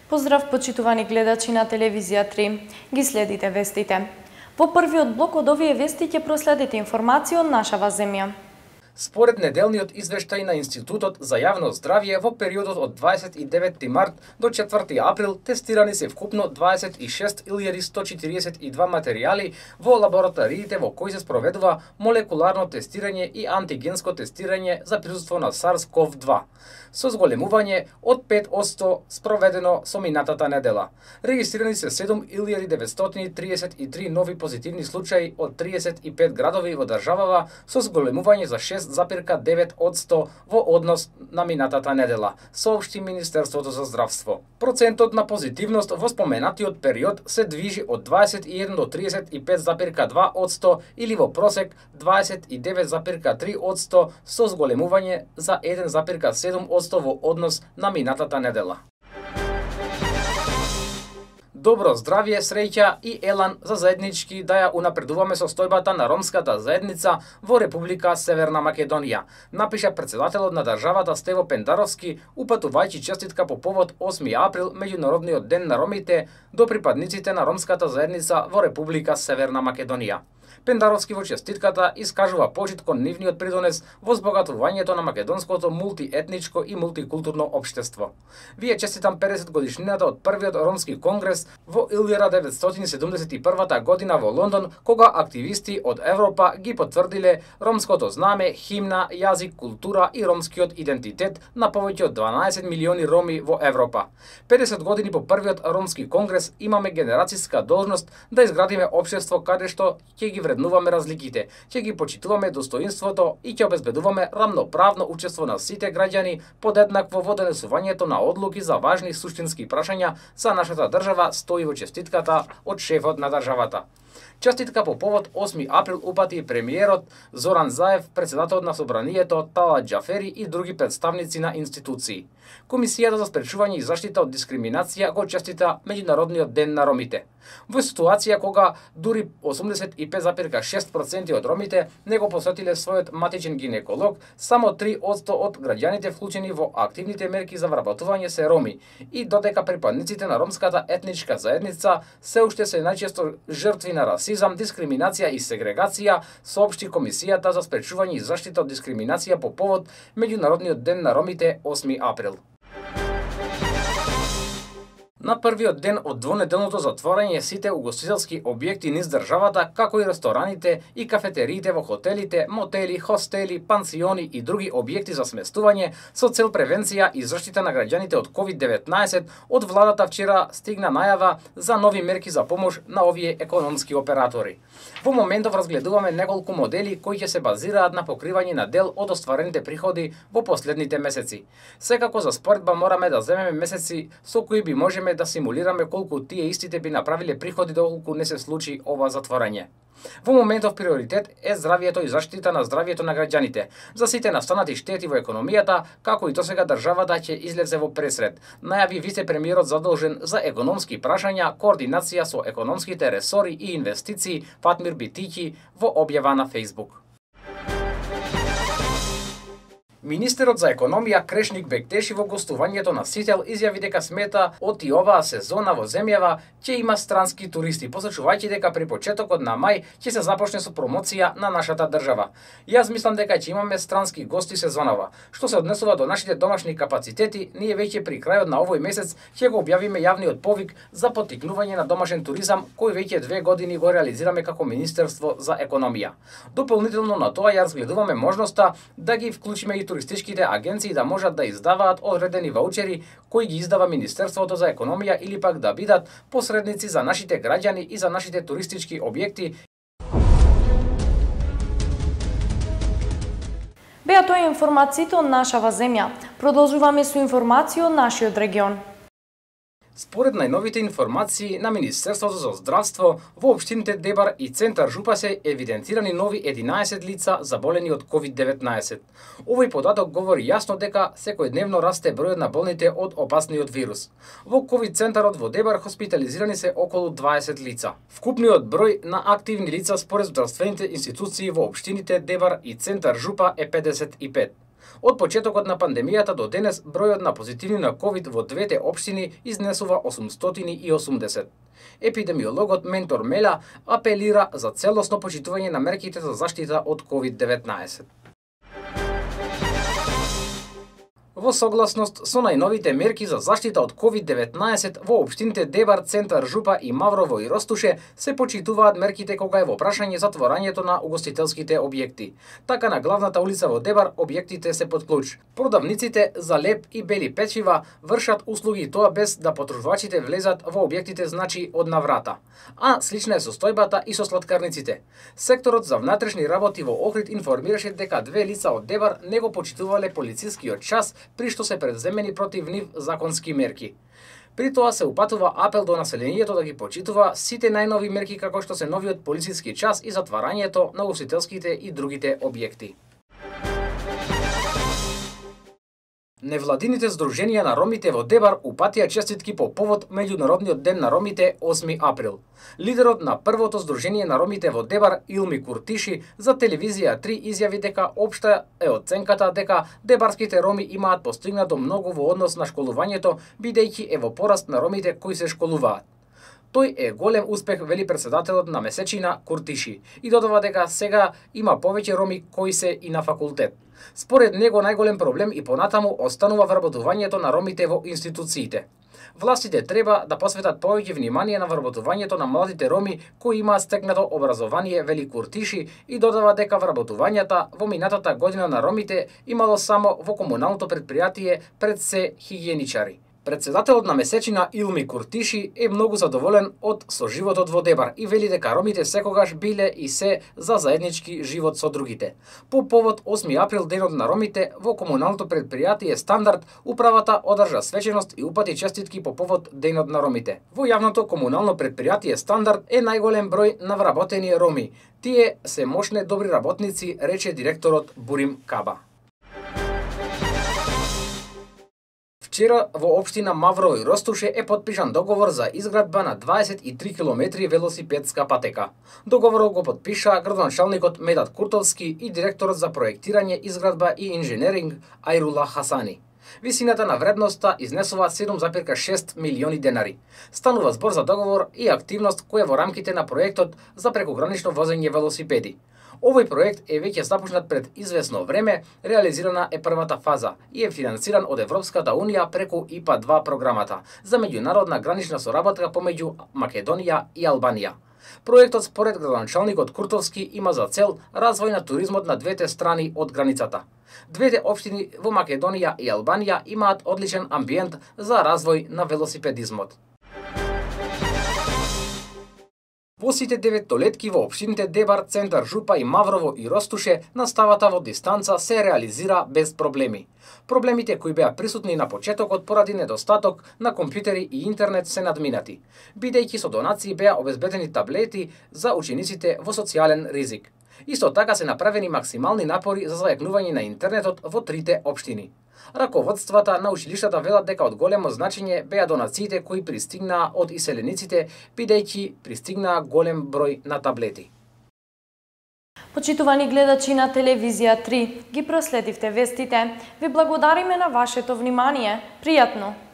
Поздрав, почитувани гледачи на телевизија 3. Ги следите вестите. Во првиот блок од овие вести ќе проследите информација од нашава земја. Според неделниот извештај на Институтот за јавно здравје, во периодот од 29 март до 4 април тестирани се вкупно 26.142 материјали во лабораториите во кои се спроведува молекуларно тестирање и антигенско тестирање за присуство на SARS-CoV-2, со зголемување од 5% спроведено со минатата недела. Регистрирани се 7.933 нови позитивни случаи од 35 градови во државава со зголемување за 6,9% во однос на минатата недела, соопшти Министерството за здравство. Процентот на позитивност во споменатиот период се движи од 21 до 35,2% или во просек 29,3% со зголемување за 1,7% во однос на минатата недела. Добро здравје, среќа и елан за заеднички да ја унапредуваме состојбата на ромската заедница во Република Северна Македонија, напиша претседателот на државата Стево Пендаровски, упатувајќи честитка по повод 8 април, меѓународниот ден на ромите, до припадниците на ромската заедница во Република Северна Македонија. Пендаровски во честитката искажува почит кон нивниот придонес во збогатувањето на македонското мултиетничко и мултикултурно општество. Вие честитам 50 годишнината од првиот ромски конгрес во 1971 година во Лондон, кога активисти од Европа ги потврдиле ромското знаме, химна, јазик, култура и ромскиот идентитет на повеќе од 12 милиони роми во Европа. 50 години по првиот ромски конгрес имаме генерацијска должност да изградиме општество каде што ќе ги вреднуваме разликите, ќе ги почитуваме достоинството и ќе обезбедуваме рамноправно учество на сите граѓани подеднакво во донесувањето на одлуки за важни суштински прашања за нашата држава, стои во честитката од шефот на државата. Честитка по повод 8 април упати премиерот Зоран Заев, претседателот на Собранието Талат Џафери и други представници на институции. Комисијата за спречување и заштита од дискриминација го честита Меѓународниот ден на ромите. Во ситуација кога дури 85,6% од ромите не го посетиле својот матичен гинеколог, само 3% од граѓаните вклучени во активните мерки за вработување се роми, и додека припадниците на ромската етничка заедница се уште се најчесто жртви на расизам, дискриминација и сегрегација, соопшти Комисијата за спречување и заштита од дискриминација по повод Меѓународниот ден на ромите 8 април. На првиот ден од двонеделното затворање сите угостителски објекти низ државата, како и рестораните и кафетериите во хотелите, мотели, хостели, пансиони и други објекти за сместување со цел превенција и заштита на граѓаните од COVID-19, од владата вчера стигна најава за нови мерки за помош на овие економски оператори. Во моментов разгледуваме неколку модели кои ќе се базираат на покривање на дел од остварените приходи во последните месеци. Секако за споредба мораме да земеме месеци со кои би можеме да симулираме колку тие истите би направиле приходи доколку не се случи ова затворање. Во моментов приоритет е здравјето и заштита на здравјето на граѓаните. За сите настанати штети во економијата, како и досега државата ќе излезе во пресред, најави вице-премиерот задолжен за економски прашања, координација со економските ресори и инвестиции Фатмир Битиќи во објава на Facebook. Министерот за економија Крешник Бектеши во гостувањето на Сител изјави дека смета од и оваа сезона во земјава ќе има странски туристи, посочувајќи дека при почетокот на мај ќе се започне со промоција на нашата држава. Јас мислам дека ќе имаме странски гости сезонава. Што се однесува до нашите домашни капацитети, ние веќе при крајот на овој месец ќе го објавиме јавниот повик за поттикнување на домашен туризам, кој веќе 2 години го реализираме како Министерство за економија. Дополнително на тоа ја разгледуваме можноста да ги вклучиме и туристичките агенции да можат да издаваат одредени ваучери кои ги издава Министерството за економија или пак да бидат посредници за нашите граѓани и за нашите туристички објекти. Беа тоа информациите од нашава земја. Продолжуваме со информации од нашиот регион. Според најновите информации на Министерството за здравство, во општините Дебар и Центар Жупа се евидентирани нови 11 лица заболени од COVID-19. Овој податок говори јасно дека секојдневно расте бројот на болните од опасниот вирус. Во COVID центарот во Дебар хоспитализирани се околу 20 лица. Вкупниот број на активни лица според здравствените институции во општините Дебар и Центар Жупа е 55. Од почетокот на пандемијата до денес бројот на позитивни на ковид во двете општини изнесува 880. Епидемиологот Ментор Меля апелира за целосно почитување на мерките за заштита од COVID-19. Во согласност со најновите мерки за заштита од COVID-19 во општините Дебар, Центар, Жупа и Маврово и Ростуше се почитуваат мерките кога е во прашање затворањето на угостителските објекти. Така на главната улица во Дебар објектите се под клуч. Продавниците за леп и бели печива вршат услуги, тоа без да потребувачите влезат во објектите, значи од наврата. А слична е состојбата и со сладкарниците. Секторот за внатрешни работи во Охрид информираше дека две лица од Дебар не го почитувале полицискиот час, при што се предземени против нив законски мерки. При тоа се упатува апел до населението да ги почитува сите најнови мерки, како што се новиот полициски час и затварањето на угостителските и другите објекти. Невладините здруженија на ромите во Дебар упатија честитки по повод Меѓународниот ден на ромите 8 април. Лидерот на првото здружение на ромите во Дебар, Илми Куртиши, за телевизија 3 изјави дека општа е оценката дека дебарските роми имаат постигнато многу во однос на школувањето, бидејќи е во пораст на ромите кои се школуваат. Тој е голем успех, вели претседателот на месечина Куртиши, и додава дека сега има повеќе роми кои се и на факултет. Според него најголем проблем и понатаму останува вработувањето на ромите во институциите. Властите треба да посветат повеќе внимание на вработувањето на младите роми кои имаат стекнато образование, вели Куртиши, и додава дека вработувањата во минатата година на ромите имало само во комуналното претпријатие пред се хигиеничари. Претседателот на месечина Илми Куртиши е многу задоволен од соживотот во Дебар и вели дека ромите секогаш биле и се за заеднички живот со другите. По повод 8 април, денот на ромите, во комуналното претпријатие Стандард, управата одржа свеченост и упати честитки по повод денот на ромите. Во јавното комунално претпријатие Стандард е најголем број на вработени роми. Тие се мошни добри работници, рече директорот Бурим Каба. Вчера во општина Маврово и Ростуше е потпишан договор за изградба на 23 километри велосипедска патека. Договорот го потпиша градоначалникот Медат Куртовски и директорот за проектирање, изградба и инженеринг Ајрула Хасани. Висината на вредноста изнесува 7,6 милиони денари. Станува збор за договор и активност која во рамките на проектот за прекогранично возење велосипеди. Овој проект е веќе започнат пред известно време, реализирана е првата фаза и е финансиран од Европската Унија преку ИПА-2 програмата за меѓународна гранична соработка помеѓу Македонија и Албанија. Проектот според градоначалникот Куртовски има за цел развој на туризмот на двете страни од границата. Двете општини во Македонија и Албанија имаат одличен амбиент за развој на велосипедизмот. По сите 9-летки во општините Дебар, Центар, Жупа и Маврово и Ростуше наставата во дистанца се реализира без проблеми. Проблемите кои беа присутни на почетокот поради недостаток на компјутери и интернет се надминати, бидејќи со донации беа обезбедени таблети за учениците во социјален ризик. Исто така се направени максимални напори за зајакнување на интернетот во трите општини. Раководствата на училиштата велат дека од големо значење беа донациите кои пристигнаа од иселениците, бидејќи пристигнаа голем број на таблети. Почитувани гледачи на телевизија 3, ги проследивте вестите. Ви благодариме на вашето внимание. Пријатно!